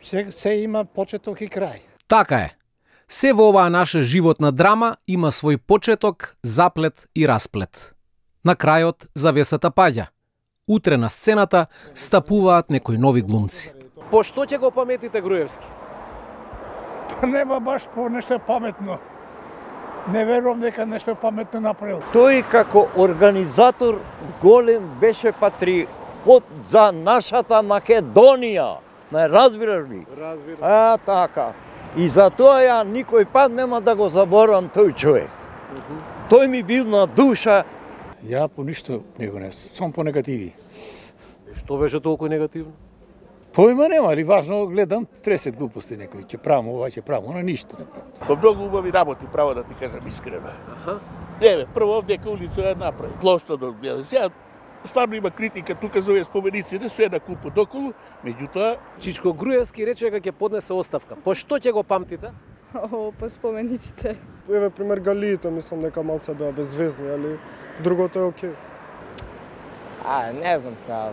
се има почеток и крај. Така е. Се во оваа наша животна драма има свој почеток, заплет и расплет. На крајот завесата паѓа. Утре на сцената стапуваат некои нови глумци. По што ќе го паметите Груевски? Нема баш по нешто паметно. Не верувам дека нешто паметно направил. Тој како организатор голем беше патриот за нашата Македонија. Не разбираш ли? Разбирам. Така. И затоа ја никој пат нема да го заборавам тој човек. Тој ми бил на душа. Ја по ништо не го несам, само по негативи. Што беше толку негативно? Поима нема, али важно гледам 30 глупости некои, ќе правам ова, ќе правам она, ништо не правам. По многу убави работи, право да ти кажам искрено. Еве, прво овдека улица ја направи. Плоштадот гледа. Сега стварно има критика тука за овие споменици, не се на купот околу, меѓутоа Чичко Груевски рече дека ќе поднесе оставка. По што ќе го памтите? По спомениците. Еве пример галиите, мислам дека малце беа безвезни, али другото е окей. Не знам сега.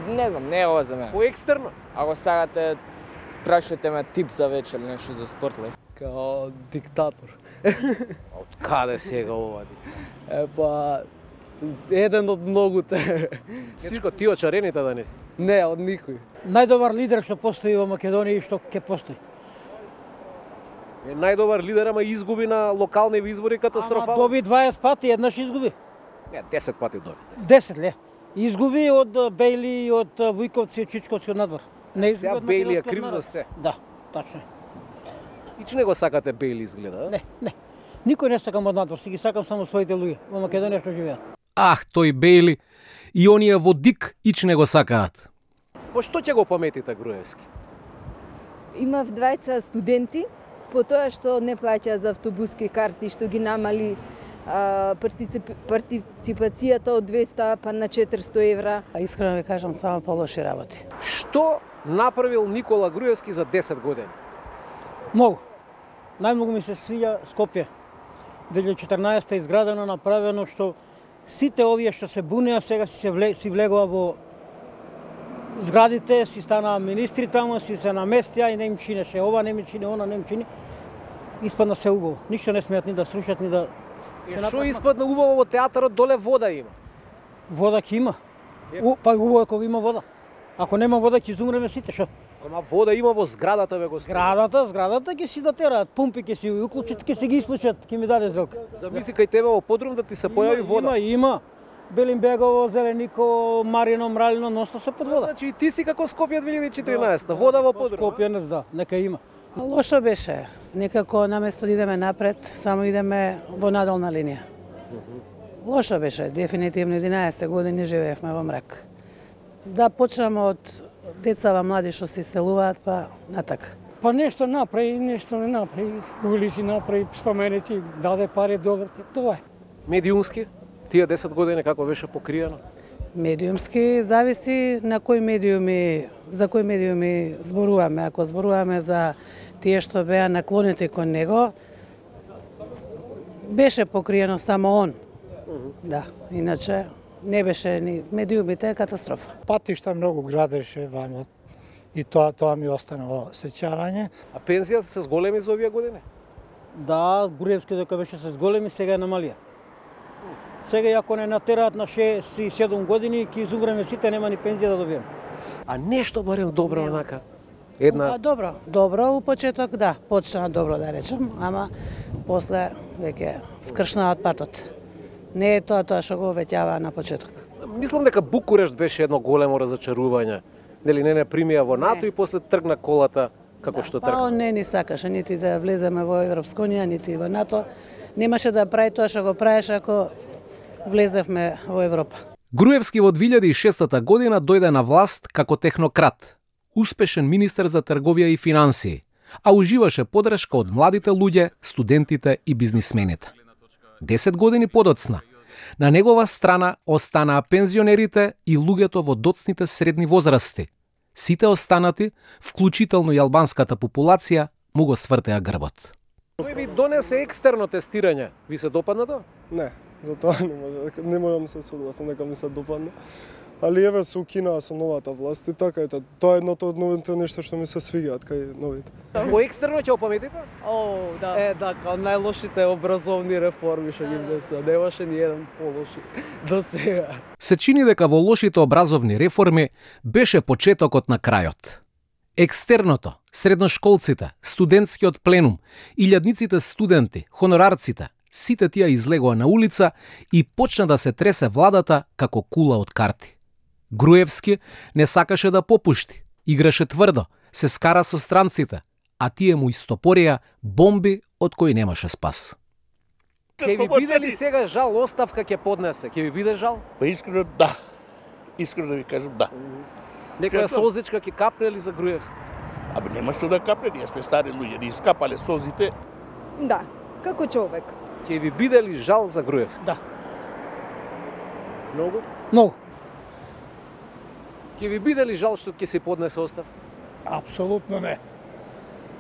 Не знам, не е ова за мене. По екстерно? Ако сакате, прашате ме тип за вечер или нешто за спорт ли? Као диктатор. Од каде сега ова? Па, еден од многуте. Чичко, ти од шарените да не си? Не, од никој. Најдобар лидер што постои во Македонија и што ќе постои. Најдобар лидер, ама изгуби на локални избори катастрофално. Доби 20 пати, еднаш изгуби. Не, 10 пати доби. 10 ле. Изгуби од Бејли, од Вујковци, од Чичковци, од надвор. Не Сега Бејли е крив за се. Да, тачно е. И че не го сакате Бејли изгледа? Не. Никој не сакам од надвор, си ги сакам само своите луѓе во Македонија што живеат. Ах, тој Бејли и оние во Дик ич не го сакаат. По што ќе го паметите Груевски? Имав двајца студенти, по тоа што не плаќа за автобуски карти, што ги намали партиципацијата од 200 па на 400 евра. Искрено ви кажам, само полоши работи. Што направил Никола Груевски за 10 години? Многу. Најмногу ми се свиѓа Скопје. 2014 е изградено, направено, што сите овие што се бунеа сега си влегува во зградите, си станаа министри таму, си се наместија и не им чинеше ова, не ми чини, она не им чини. Испадна се убаво. Ништо не смеат ни да срушат, ни да... Што испадна убаво во театарот, доле вода има? Вода ќе има. Па убаво е кога има вода. Ако нема вода ќе изумреме сите, шо? Ама вода има во зградата, бе господи. Зградата ќе си дотераат, пумпи ќе си уклучат, ќе си ги исклучат, ќе ми даде зелка. Замисли кај тебе во подрум да ти се појави вода. Има. Белинбегово, Зелениково, Марино, Мралино, носто се под вода. Значи и ти си како Скопје 2014, вода во подрум. Скопје, да, нека има. Лошо беше. Некако наместо да идеме напред, само идеме во надолна линија. Лошо беше, дефинитивно 11 години живеевме во мрак. Да почнеме од децава млади што се селуваат, па натака. Па нешто направи, нешто не направи. Улици направи, споменети, даде пари добро, тоа е. Медиумски? Тие 10 години како беше покриено? Медиумски зависи на за кои медиуми зборуваме. Ако зборуваме за тие што беа наклонети кон него, беше покриено само он. Да, иначе не беше ни медиумите е катастрофа. Патишта многу градеше ваму и тоа ми остана во сеќавање. А пензијата се зголеми за овие години? Да, Груевски дека беше се зголеми, сега е намалија. Сега ако не натераат на 6-7 години, ќе изумреме сите, нема ни пензија да добиеме. А нешто барем добро онака? Една... Добро, у почеток да, почна добро да речем, ама после веќе скршна од патот. Не е тоа што го обеќава на почеток. Мислам дека Букурешт беше едно големо разочарување. Нели не примија во НАТО и после тргна колата како што тргна. Па он не ни сакаше нити да влеземе во Европска унија, нити во НАТО. Немаше да прави тоа што го правеше ако влезевме во Европа. Груевски во 2006 година дојде на власт како технократ, успешен министер за трговија и финансии, а уживаше подршка од младите луѓе, студентите и бизнисмените. 10 години подоцна, на негова страна останаа пензионерите и луѓето во доцните средни возрасти. Сите останати, вклучително и албанската популација, му го свртеа грбот. Тој ви донесе екстерно тестирање. Ви се допадна тоа? Не, за тоа не можам се согласам дека ми се допадна. али еве се укинаа со новата власт и така ето. Тоа е едното од новите нешта што ми се свиѓаат кај новите. Во екстерно ќе опаметите? О, да. Као најлошите образовни реформи што ги внесува. Немаше ни еден полоши до сега. Се чини дека во лошите образовни реформи беше почетокот на крајот. Екстерното, средношколците, студентскиот пленум, илјадниците студенти, хонорарците, сите тие излегоа на улица и почна да се тресе владата како кула од карти. Груевски не сакаше да попушти, играше тврдо, се скара со странците, а тие му истопорија бомби од кои немаше спас. Ке ви биде ли сега жал оставка ќе поднесе? Ке ви биде жал? Па искрено да. Искрено да ви кажам да. Некоја созичка ќе капне ли за Груевски? Абе нема што да капне, ние сме стари луѓе, ни искапале созите. Да, како човек. Ќе ви биде ли жал за Груевски? Да. Многу? Многу. Ќе ви биде ли жал што ќе се поднесе оставка? Апсолутно не.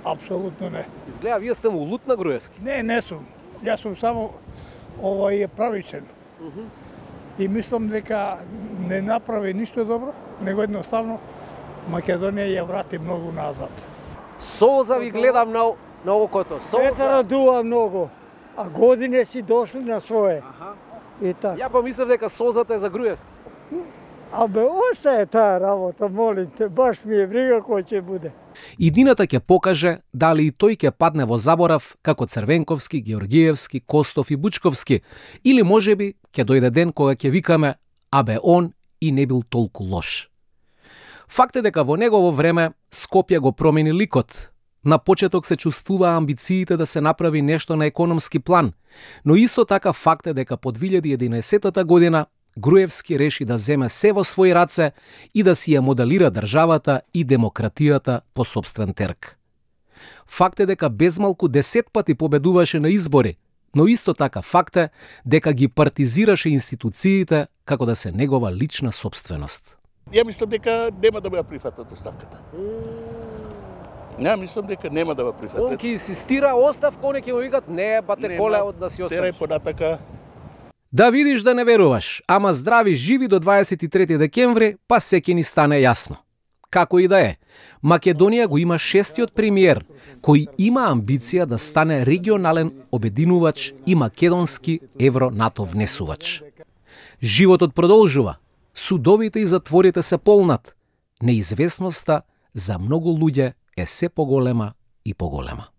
Апсолутно не. Изгледа вие сте му лут на Груевски. Не сум. Јас сум само овој е правичен. И мислам дека не направи ништо добро, него едноставно Македонија ја врати многу назад. Соза ви гледам на окото. Ете радува многу, а години си дошли на свое. И така. Ја помислев дека созата е за Груевски. Абе, остае таа работа, молим те, баш ми е брига кој ќе буде. Идината ќе покаже дали и тој ќе падне во заборав како Црвенковски, Георгиевски, Костов и Бучковски, или можеби ќе дојде ден кога ќе викаме абе он и не бил толку лош. Факт е дека во негово време Скопје го промени ликот. На почеток се чувствуваа амбициите да се направи нешто на економски план, но исто така факт е дека по 2011 година Груевски реши да земе се во своји раце и да си ја моделира државата и демократијата по сопствен терк. Факт е дека безмалку 10 пати победуваше на избори, но исто така факт е дека ги партизираше институциите како да се негова лична собственост. Ја мислам дека нема да ја прифатат оставката. Ја мислам дека нема да ја прифатат. Он ќе инсистира оставка, они ќе му викат не, бате коле од да си останеш. Терај понатака. Да видиш да не веруваш, ама здрави живи до 23 декември, па се ќе ни стане јасно. Како и да е, Македонија го има 6-тиот премиер, кој има амбиција да стане регионален обединувач и македонски евро-НАТО внесувач. Животот продолжува, судовите и затворите се полнат, неизвестноста за многу луѓе е се поголема и поголема.